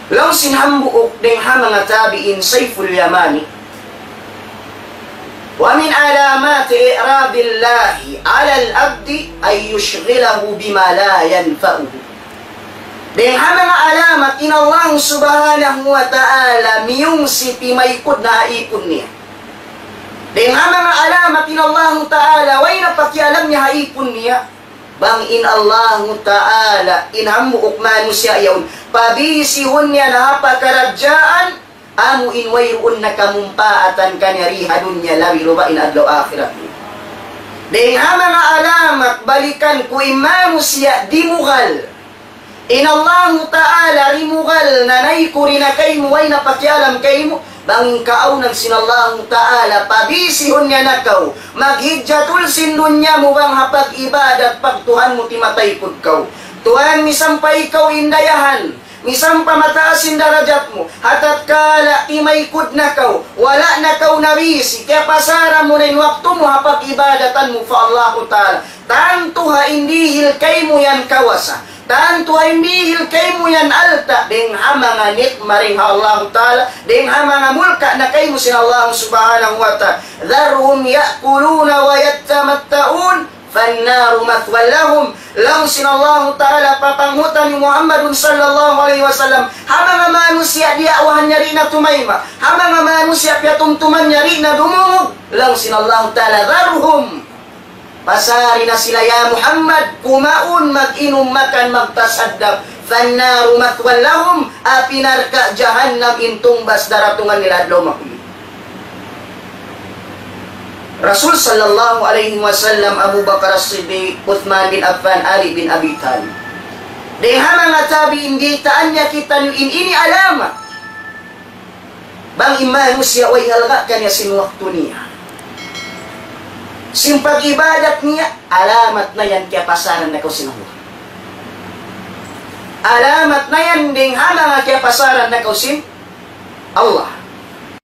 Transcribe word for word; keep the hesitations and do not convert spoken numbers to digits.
Laung sin hambuuk dayn ha manga tabi'in, Sayful Yamani, ومن علامات إعراض الله على العبد أن يشغله بما لا ينفعه. Dayn ha manga alamat in Allah Subhanahu wa Ta'ala miyungsi timaykud na ha ipun niya. Dayn ha manga alamat in Allah Ta'ala way na pakialam niya ha ipun niya. Bang in Allah Ta'ala in hambuuk manusiya' yaun pabisihun niya na ha pakaradjaan, amu in wayruun na kamumpaatan kaniya di ha dunya, labi ruba in adlaw akhirat. Dayn ha manga alamat, balikan ku, in manusiya' dimugal. In Allahu Ta'ala dimugal na nayku di na kaymu, way na pakialam kaymu. Bang in kaawnan sin Allahu Ta'ala pabisihun niya na kaw, maghijjatul sin dunya mu bang ha pag-ibadat pa Tuhan mu timataykud kaw. Tuhan, misan pa ikaw in dayahan, misan pa mataas in darajat mu, ha tatkala timaykud na kaw, wala' na kaw nabisi, kiyapasaran mu na in waktu mu ha pag-ibadatan mu pa Allahu Ta'ala. Tantu ha in dihil kaymu yan kawasa, tantu ha in dihil kaymu yan alta', dayn ha manga nikma dayn ha Allahu Ta'ala, dayn ha manga mulka' na kaymu sin Allahu Subhanahu wa Ta'ala. ذرهم يأكلوا ويتمتعوا فالنار مثوى لهم. Laung sin Allahu Ta'ala, papanghutan hi Muhammadun sallallahu alayhi wasallam ha manga manusiya' diyaawahan niya di' na tumayma', ha manga manusiya' piyatumtuman niya di' na dumungug. Laung sin Allahu Ta'ala, ذرهم, pasari na sila ya Muhammad, kumaun, mag-inum, makan, magtasaddap. فالنار مثوى لهم, api narka' jahannam in tungbas daratungan nila adlaw mahuli. Rasul sallallahu alayhi wasallam, Abu Bakar As-Siddiq, Uthman bin Affan, Ali bin Abi Talib. Dayn ha manga tabi'in, diyaytaan niya kitaniyu in ini alamat. Bang in manusiya' way halga' kaniya sin waktu niya, sin pag-ibadat niya, alamat na yan kiyapasaran na kaw sin Allah. Alamat na yan dayn ha manga kiyapasaran na kaw sin Allah.